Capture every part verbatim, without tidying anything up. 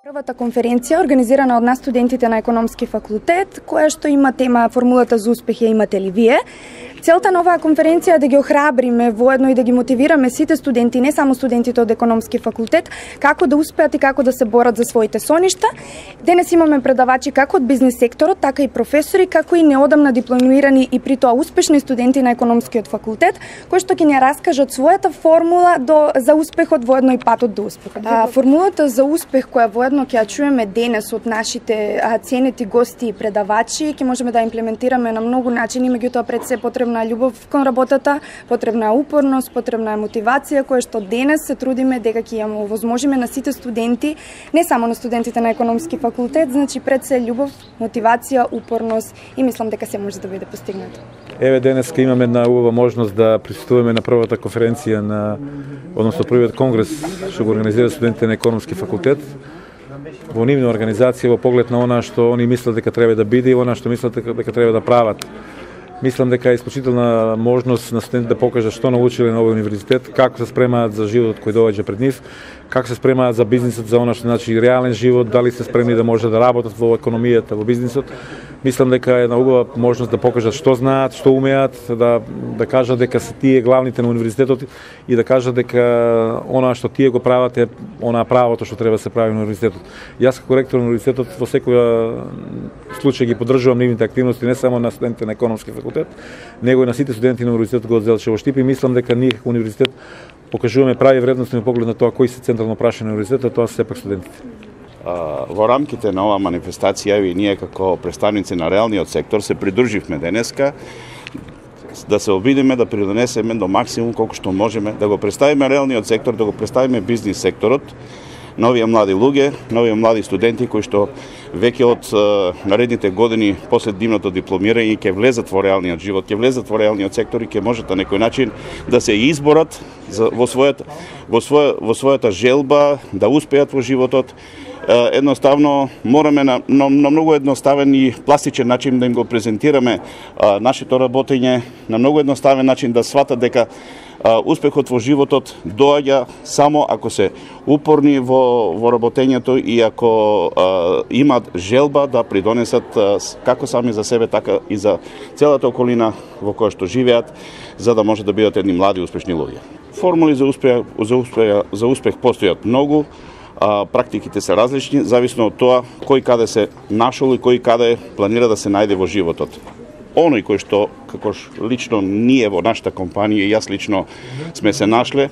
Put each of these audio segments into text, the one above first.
Првата конференција организирана од нас студентите на економски факултет, која што има тема формулата за успех ја имате ли вие. Целта на оваа конференција е да ги охрабриме воедно и да ги мотивираме сите студенти, не само студентите од економски факултет, како да успеат и како да се борат за своите соништа. Денес имаме предавачи како од бизнис секторот, така и професори, како и неодамна дипломирани и при тоа успешни студенти на економскиот факултет, кои што ќе ни раскажат својата формула до за успехот воедно и патот до успехот. А, формулата за успех која воедно ќе ја чуеме денес од нашите а, ценети гости и предавачи, ќе можеме да имплементираме на многу начини, меѓутоа пред се потребна е љубов кон работата, потребна е упорност, потребна е мотивација, која што денес се трудиме дека ќе ја овозможиме на сите студенти, не само на студентите на економски факултет, значи пред се љубов, мотивација, упорност и мислам дека се може да биде постигнато. Еве денеска имаме една убава можност да присуствуваме на првата конференција на, односно првиот конгрес што го организира студентите на економски факултет. Во нивна организација во поглед на она што они мислат дека треба да биде и она што мислат дека, дека треба да прават. Мислам дека е исклучителна можност на студентите да покажат што научиле на овој универзитет, како се спремаат за животот кој доаѓа пред нив, како се спремаат за бизнисот, за она што значи реален живот, дали се спремни да може да работат во економијата, во бизнисот. Мислам дека е една убава можност да покажат што знаат, што умеат, да да кажат дека се тие главните на универзитетот и да кажат дека она што тие го прават е она правото што треба да се прави на универзитетот. Јас како ректор на универзитетот во секој случај ги поддржувам нивните активности не само на студентите на економски факултет, него и на сите студенти на универзитетот го Делчево Штип и мислам дека ние како универзитет покажуваме прави вредности на поглед на тоа кои се централно прашања на универзитетот, тоа се сепак студентите. Во рамките на оваа манифестација и ние како представници на реалниот сектор се придруживме денеска да се обидиме да придонесеме до максимум колку што можеме да го представиме реалниот сектор, да го представиме бизнис секторот, новија млади луѓе, новија млади студенти кои што веќе од наредните години после дивното дипломирање ќе влезат во реалниот живот, ќе влезат во реалниот сектор и ќе можат на некој начин да се изборат за, во својата во своја во својата желба да успеат во животот. Едноставно мораме на, на, на многу едноставен и пластичен начин да им го презентираме а, нашето работење, на многу едноставен начин да сватат дека а, успехот во животот доаѓа само ако се упорни во, во работењето и ако а, имат желба да придонесат а, како сами за себе, така и за целата околина во која што живеат, за да може да бидат едни млади успешни луѓе. Формули за успех, за успех, за успех постојат многу. А, практиките се различни, зависно од тоа кој каде се нашол и кој каде планира да се најде во животот. Оној кој што, како лично ние во нашата компанија и јас лично сме се нашле,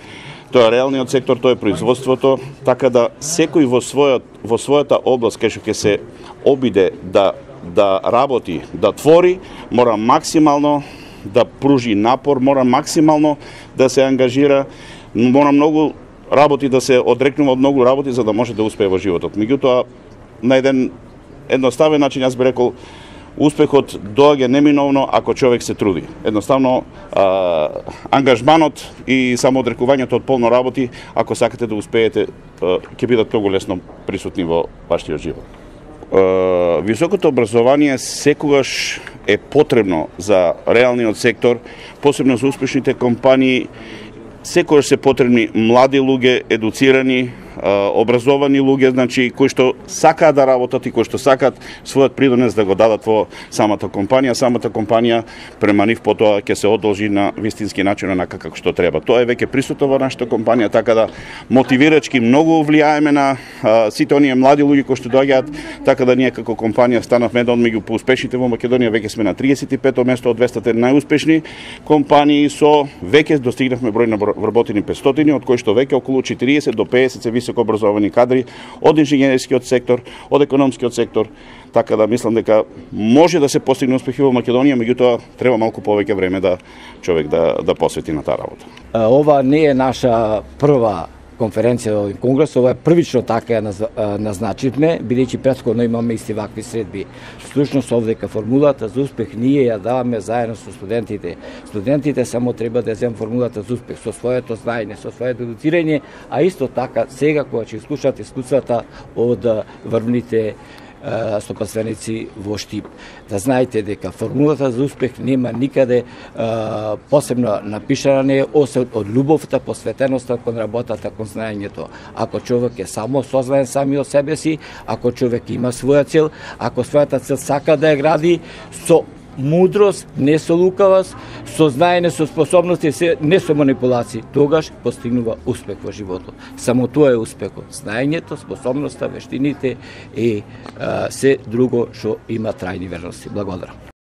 тоа е реалниот сектор, тоа е производството, така да секој во својот во својата област кај што ќе се обиде да да работи, да твори, мора максимално да пружи напор, мора максимално да се ангажира, мора многу работи да се одрекнува од многу работи за да може да успее во животот. Меѓутоа, на еден едноставен начин јас би рекол, успехот доаѓа неминовно ако човек се труди. Едноставно, а, ангажманот и самоодрекувањето од полно работи, ако сакате да успеете, ќе бидат многу лесно присутни во вашиот живот. А, високото образование секогаш е потребно за реалниот сектор, посебно за успешните компании. Секогаш се потребни млади луѓе, едуцирани, образовани луѓе, значи кои што сакаат да работат и кои што сакаат својот придонес да го дадат во самата компанија. Самата компанија према нив потоа ќе се одолжи на вистински начин онака како што треба. Тоа е веќе присутно во нашата компанија, така да мотивирачки многу влијаеме на а, сите оние млади луѓе кои што доаѓаат, така да ние како компанија станавме еден од меѓу поуспешните во Македонија, веќе сме на триесет и пето место од двеста најуспешни компании, со веќе достигнавме број на вработени петстотини, од кои што веќе околу четириесет до пеесет се високо образовани кадри од инженерскиот сектор, од економскиот сектор, така да мислам дека може да се постигне успехи во Македонија, меѓутоа треба малку повеќе време да човек да да посвети на таа работа. Ова не е наша прва конференција во конгрес, ова е првично така ја назначивме, бидејќи претходно имаме исти вакви средби. Всушност овдека формулата за успех ние ја даваме заедно со студентите. Студентите само треба да земат формулата за успех со своето знаење, со своето едуцирање, а исто така сега кога ќе слушате искуствата од врвните стопанственици во Штип. Да знаете дека формулата за успех нема никаде а, посебно напишана не освен од љубовта, посветеноста кон работата, кон знаењето. Ако човек е само сознаен сами од себе си, ако човек има своја цел, ако својата цел сака да ја гради со мудрост, не со лукавост, со знаење, со способности, не со манипулации, тогаш постигнува успех во животот. Само тоа е успехот. Знаењето, способноста, вештините и а, се друго што има трајни верности. Благодарам.